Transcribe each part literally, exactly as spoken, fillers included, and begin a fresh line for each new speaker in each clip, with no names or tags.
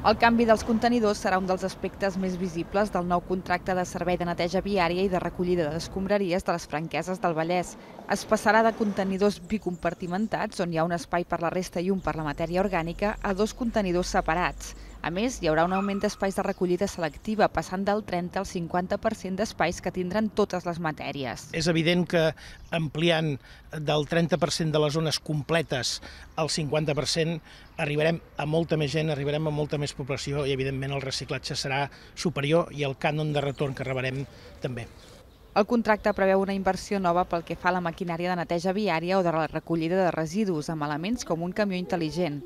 El canvi dels contenidors serà un dels aspectes més visibles del nou contracte de servei de neteja viària i de recollida d'escombraries de les Franqueses del Vallès. Es passarà de contenidors bicompartimentats, on hi ha un espai per la resta i un per la matèria orgànica, a dos contenidors separats. A més, hi haurà un augment d'espais de recollida selectiva, passant del trenta al cinquanta per cent d'espais que tindran totes les matèries.
És evident que ampliant del trenta per cent de les zones completes al cinquanta per cent arribarem a molta més gent, arribarem a molta més població i, evidentment, el reciclatge serà superior i el cànon de retorn que rebrem també.
El contracte preveu una inversió nova pel que fa a la maquinària de neteja viària o de la recollida de residus, amb elements com un camió intel·ligent.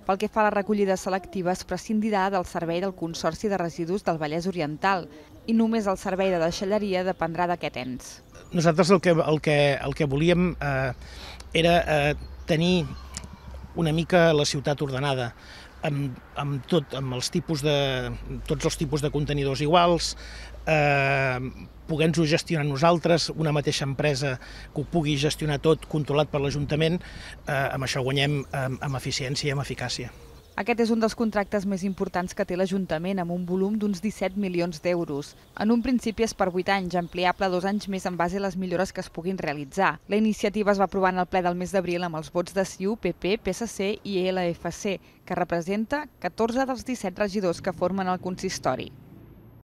Pel que fa a la recollida selectiva, es prescindirà del servei del Consorci de Residus del Vallès Oriental i només el servei de deixalleria dependrà d'aquest ens.
Nosaltres el que, el que, el que volíem eh, era eh, tenir una mica la ciutat ordenada, amb, amb, tot, amb els tipus de, tots els tipus de contenidors iguals, eh, poder-nos-ho gestionar nosaltres, una mateixa empresa que ho pugui gestionar tot, controlat per l'Ajuntament, eh, amb això guanyem amb, amb eficiència i amb eficàcia.
Aquest és un dels contractes més importants que té l'Ajuntament, amb un volum d'uns disset milions d'euros. En un principi és per vuit anys, ampliable a dos anys més en base a les millores que es puguin realitzar. La iniciativa es va aprovar en el ple del mes d'abril amb els vots de C I U, P P, P S C i L F C, que representa catorze dels disset regidors que formen el consistori.